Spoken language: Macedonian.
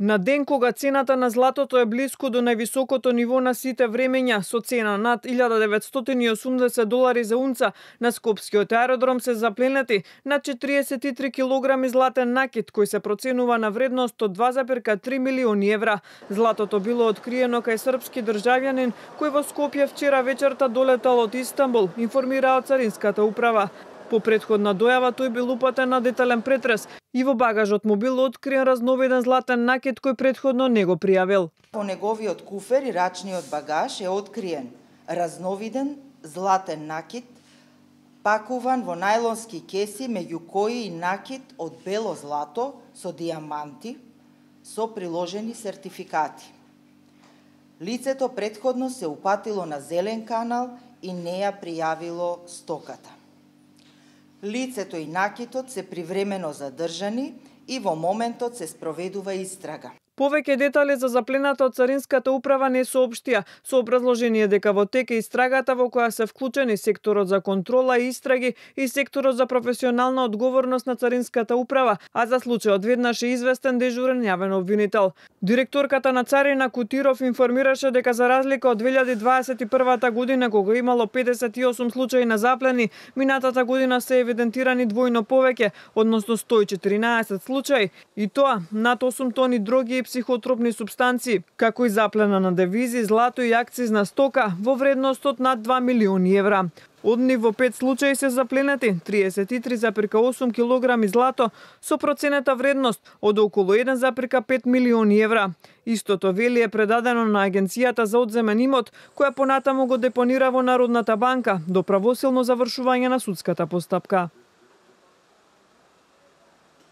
На ден кога цената на златото е блиску до највисокото ниво на сите времења, со цена над $1980 за унца, на Скопскиот аеродром се запленети на 43 килограми златен накит, кој се проценува на вредност од 2,3 милиони евра. Златото било откриено кај српски државјанин, кој во Скопје вчера вечерта долетал од Истанбул, информира од Царинската управа. По претходна дојава тој бил упатен на детален претрес и во багажот му бил откриен разновиден златен накит кој претходно не го пријавил. По неговиот куфер и рачниот багаж е откриен разновиден златен накит пакуван во најлонски кеси, меѓу кои и накит од бело злато со дијаманти со приложени сертификати. Лицето претходно се упатило на зелен канал и не ја пријавило стоката. Лицето и накитот се привремено задржани и во моментот се спроведува истрага. Повеќе детали за заплената од Царинската управа не соопштија, со образложение дека во тек е истрагата во која се вклучени секторот за контрола и истраги и секторот за професионална одговорност на Царинската управа, а за случајот веднаш е известен дежурен јавен обвинител. Директорката на Царина Кутиров информираше дека за разлика од 2021 година, кога имало 58 случаи на заплени, минатата година се евидентирани двојно повеќе, односно 114 случаи, и тоа над 8 тони дроги и психотропни супстанции, како и заплена на девизи, злато и акцизна стока во вредност од над 2 милиони евра. Од нив во 5 случаи се запленети 33,8 килограми злато со проценета вредност од околу 1,5 милиони евра. Истото вели е предадено на Агенцијата за одземен имот, која понатаму го депонира во Народната банка до правосилно завршување на судската постапка.